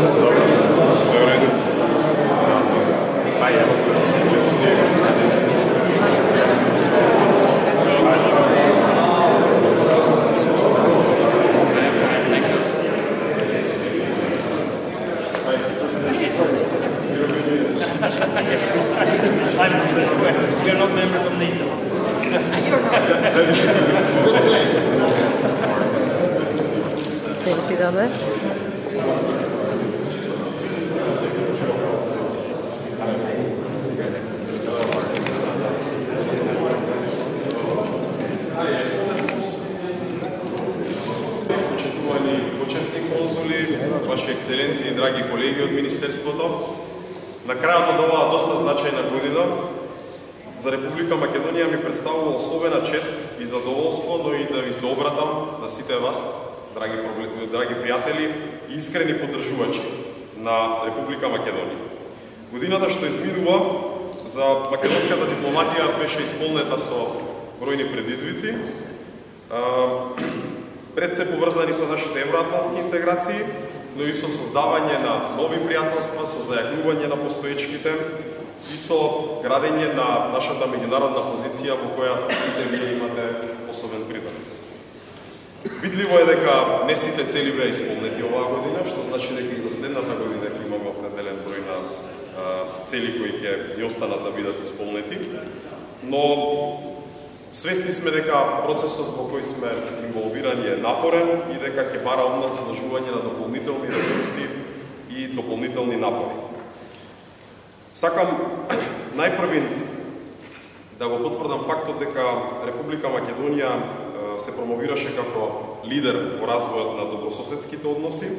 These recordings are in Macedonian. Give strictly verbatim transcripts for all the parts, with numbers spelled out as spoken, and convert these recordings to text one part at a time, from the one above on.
Sve u redu. Pa evo se, često si. We are not members of NATO. You're not. Dziękujemy. Почитувани почесни конзули, ваши ексцеленции и драги колеги од Министерството, на крајот од оваа доста значајна година, за Република Македонија ми представува особена чест и задоволство, но и да ви се обратам на сите вас, драги, драги пријатели и искрени поддржувачи на Република Македонија. Годината што изминува за македонската дипломатија беше исполнета со бројни предизвици, пред се поврзани со нашите евроатлантски интеграции, но и со создавање на нови пријателства, со зајакнување на постоечките и со градење на нашата меѓународна позиција во која сите вие имате особен придонес. Видливо е дека не сите цели беа исполнети оваа година, што значи дека и за следната година ќе имаме определен број на цели кои ќе ни останат да бидат исполнети, но свесни сме дека процесот во кој сме инволвирани е напорен и дека ќе бара од нас вложување на дополнителни ресурси и дополнителни напори. Сакам најпрви да го потврдам фактот дека Република Македонија се промовираше како лидер во развојот на добрососедските односи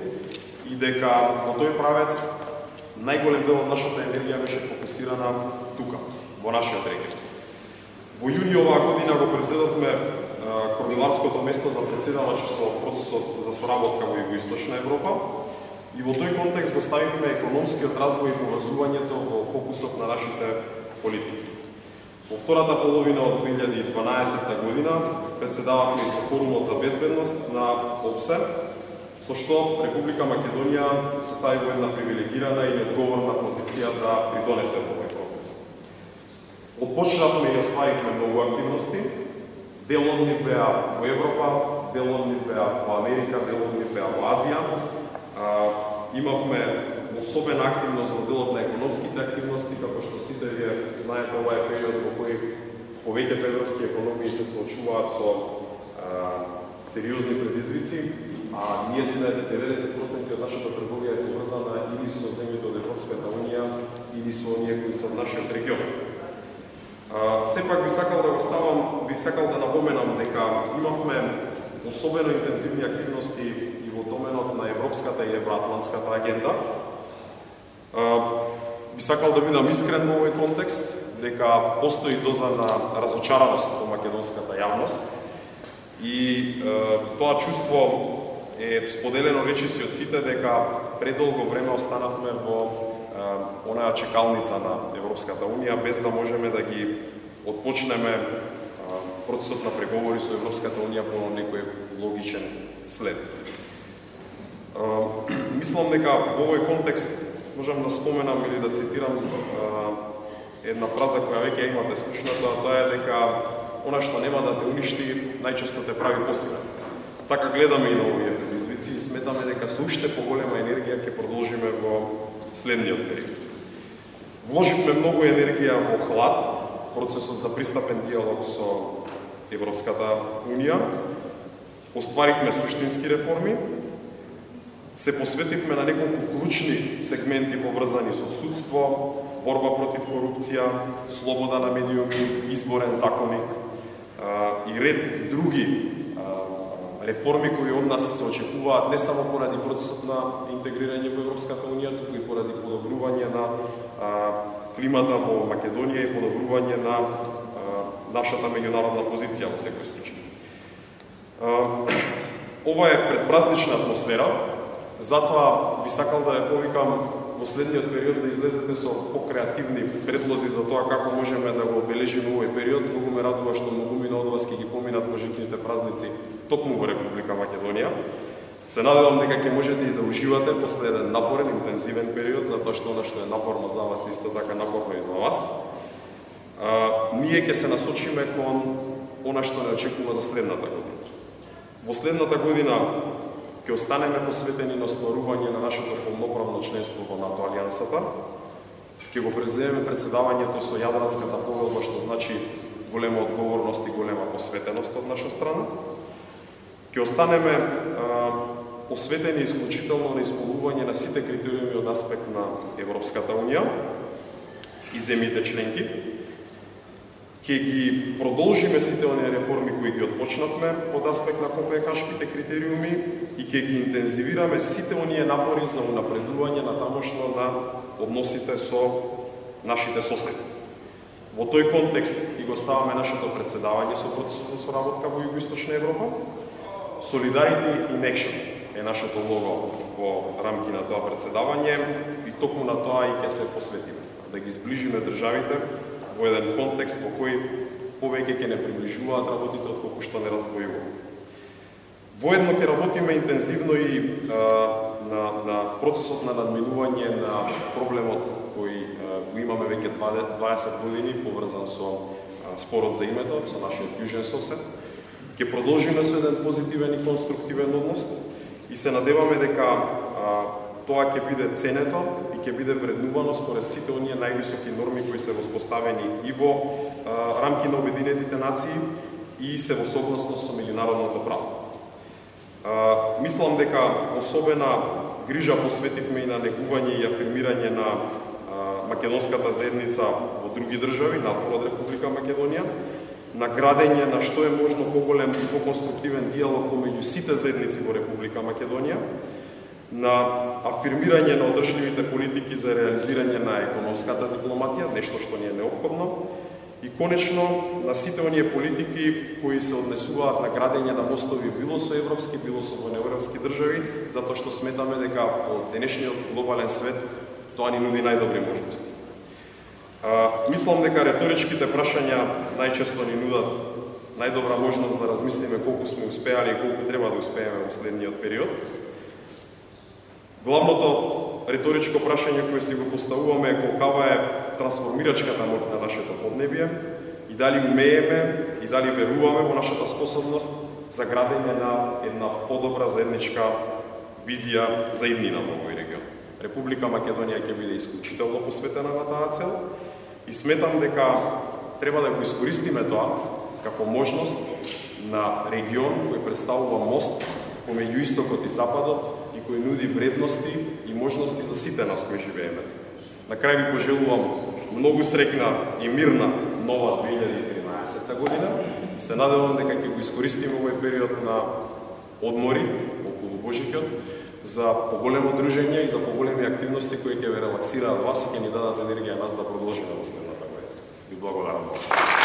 и дека во тој правец најголем дел од нашата енергија беше фокусирана тука, во нашиот регион. Во јуни оваа година го превзедовме координарското место за председавач со процесот за соработка во Југоисточна Европа и во тој контекст го ставивме економскиот развој и поврзувањето во фокусот на нашите политики. Во втората половина од две илјади и дванаесетта година председававме и со форумот за безбедност на ОПСЕ, со што Република Македонија се стави во една привилегирана и одговорна позиција да придонесе во овој процес. Отпочнавме и оставивме многу активности, дел од нив беа во Европа, дел од нив беа во Америка, дел од нив беа во Азија. Имавме особена активност во делот на економските активности, како што сите вие знаете, ова е период во кој повеќето европски економии се соочуваат со а, сериозни предизвици, а ние сме деветдесет проценти од нашата трговија е поврзана или со земјите од Европската унија, или со оние кои се од нашиот регион. А, сепак би сакал да го ставам, би сакал да напоменам дека имавме особено интензивни активности и во доменот на европската и евроатлантската агенда. А, би сакал да бидам искрен во овој контекст, дека постои доза на разочараност во македонската јавност и е, тоа чувство е споделено речиси од сите дека предолго време останавме во е, онаа чекалница на Европската унија без да можеме да ги отпочнеме е, процесот на преговори со Европската унија по некој логичен след. Е, мислам дека во овој контекст можам да споменам или да цитирам е, една фраза која веќе имате слушната, а тоа е дека она што нема да те уништи, најчесто те прави посилен. Така гледаме и на овие предизвици и сметаме дека со уште поголема енергија ќе продолжиме во следниот период. Вложивме многу енергија во ХЛАД, процесот за пристапен диалог со Европската унија, остваривме суштински реформи, се посветивме на неколку клучни сегменти поврзани со судство, борба против корупција, слобода на медиуми, изборен законник а, и ред други а, реформи кои од нас се очекуваат не само поради процесот на интегрирање во Европската унија, туку и поради подобрување на а, климата во Македонија и подобрување на а, нашата меѓународна позиција во секој случај. А, ова е предпразнична атмосфера, затоа би сакал да ја повикам во следниот период да излезете со покреативни предлози за тоа како можеме да го обележиме овој период. Многу ме радува што многумина од вас ќе ги поминат можитните празници токму во Република Македонија. Се надевам дека ќе можете и да уживате после еден напорен, интензивен период, затоа што она што е напорно за вас е исто така напорно и за вас. А, ние ќе се насочиме кон она што не очекува за следната година. Во следната година ќе останеме посветени на остварување на нашето полноправно членство во НАТО алијансата. Ќе го преземеме председавањето со Јадранската повелба, што значи голема одговорност и голема посветеност од наша страна. Ќе останеме а, осветени исклучително на исполнување на сите критериуми од аспект на Европската Унија и земјите членки. Ќе ги продолжиме сите оние реформи кои ги отпочнавме од аспект на копенхашките критериуми и ќе ги интензивираме сите оние напори за унапредување на тамошно на односите со нашите соседи. Во тој контекст и го ставаме нашето председавање со процесот за соработка во Југоисточна Европа. Solidarity in Action е нашето лого во рамки на тоа председавање и токму на тоа и ќе се посветиме. Да ги сближиме државите во еден контекст во кој повеќе ќе не приближуваат работите отколку што не раздвојуваат. Воедно ќе работиме интензивно и а, на, на процесот на надминување на проблемот кој а, го имаме веќе дваесет години, поврзан со а, спорот за името, со нашиот јужен сосед. Ќе продолжиме со еден позитивен и конструктивен однос и се надеваме дека а, тоа ќе биде ценето и ќе биде вреднувано според сите оние највисоки норми кои се воспоставени и во а, рамки на Обединетите нации и се во согласност со меѓународното право. А, мислам дека особена грижа посветивме и на негување и афирмирање на а, македонската заедница во други држави, надвор од Република Македонија, на градење на што е можно поголем и поконструктивен диалог помеѓу сите заедници во Република Македонија, на афирмирање на одржливите политики за реализирање на економската дипломатија, нешто што ни е неопходно, и конечно на сите оние политики кои се однесуваат на градење на мостови било со европски, било со вонеевропски држави, затоа што сметаме дека во денешниот глобален свет тоа ни нуди најдобри можности. А, мислам дека реторичките прашања најчесто ни нудат најдобра можност да размислиме колку сме успеали и колку треба да успееме во следниот период. Главното реторичко прашање кое си го поставуваме е колкава е трансформирачката моќ на нашето поднебие и дали умееме и дали веруваме во нашата способност за градење на една подобра заедничка визија за иднина во овој регион. Република Македонија ќе биде исклучително посветена на таа цел и сметам дека треба да го искористиме тоа како можност на регион кој представува мост помеѓу истокот и западот и кој нуди вредности и можности за сите нас кои живееме. На крај ви пожелувам многу среќна и мирна нова две илјади и тринаесетта година и се надевам дека ќе го искористиме овој период на одмори околу Божикот за поголемо дружење и за поголеми активности кои ќе ве релаксираат вас и ќе ни дадат енергија нас да продолжиме во следната година. Ви благодарам.